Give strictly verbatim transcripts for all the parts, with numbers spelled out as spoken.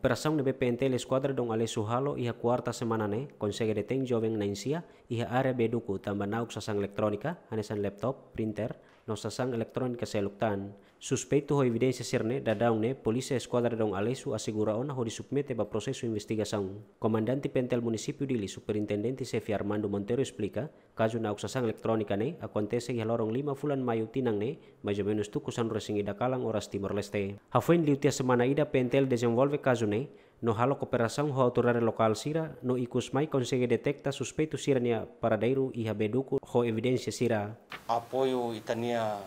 Operasaun ne'ebé P N T L Eskuadra Dom Aleixo halo iha kuarta semana ne'e konsege detein joven na'in-sia iha área Beduku tanba na'ok sasán eletrónika, hanesan laptop, printer, no sasán eletrónika seluk tan. Suspeitu ho evidénsia sira-ne'e daudaun ne'e Polísia Eskuadra Dom Aleixo asegura ona hodi submete ba prosesu investigasaun. Komandante P N T L Munisípiu Dili, Superintendente Xefe Armando Monteiro esplika, kazu na'ok sasán eletrónika ne'e akontese iha loron lima fulan Maiu tinan ne'e, mais ou menus tuku sanulu-resin-ida kalan oras Timor-Leste. Hafoin liu tiha semana ida P N T L dezenvolve kazu ne'e, no halo kooperasaun ho autoridade lokál sira, no ikus mai konsege deteta suspeitu sira-nia paradeiru iha Beduku ho evidénsia sira. Apoiu ita-nia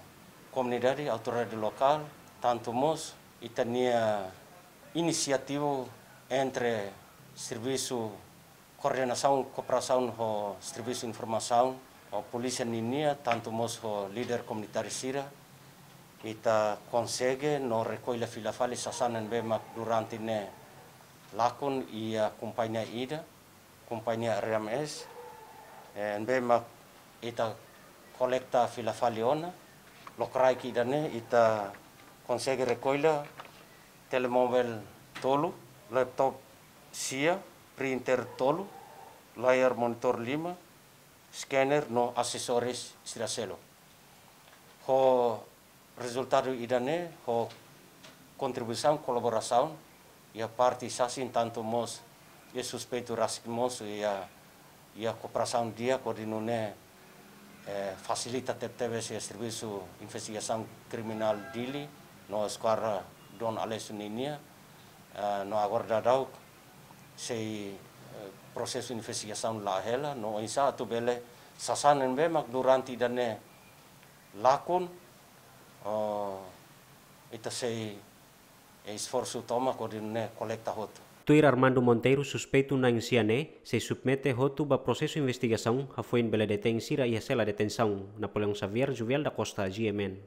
komunidade, autoridade lokál, tantu mós ita-nia inisiativa entre servisu koordenasaun kooperasaun ho servisu informasaun, ho polísia ninia, tantu mós ho líder komunitáriu sira, ita konsege no rekolla fila fali sasán ne'ebé mak durante ne'e lakon iha kompañia ida, kompañia R M S, eh, ne'ebé mak ita kolekta fila fali ona, lokraik ida-ne'e ita konsege rekolla telemóvel tolu, laptop sia, printer tolu, layar monitor lima, scanner no asesóriu sira seluk. Ho rezultadu ida-ne'e, ho kontribuisaun kolaborasaun iha parte sasin, tantu mós iha suspeitu rasik mós iha, iha kooperasaun di'ak hodi nune'e, eh, fasilita tebetebes iha Servisu Investigasaun Kriminál Dili no Eskuadra Dom Aleixo ninia, eh, no agora daudaun sei, eh, prosesu investigasaun la'o hela, no oinsá atu bele sasán ne'ebé mak durante ida-ne'e lakon, oh, ita sei, eh, esforsu tomak hodi nune'e kolekta hotu. Tuir Armando Monteiro, suspeitu na'in-sia ne'e sei submete hotu ba prosesu investigasaun hafoin bele detein sira iha sela detensaun. Napoleão Xavier, Juvial da Costa, G M N.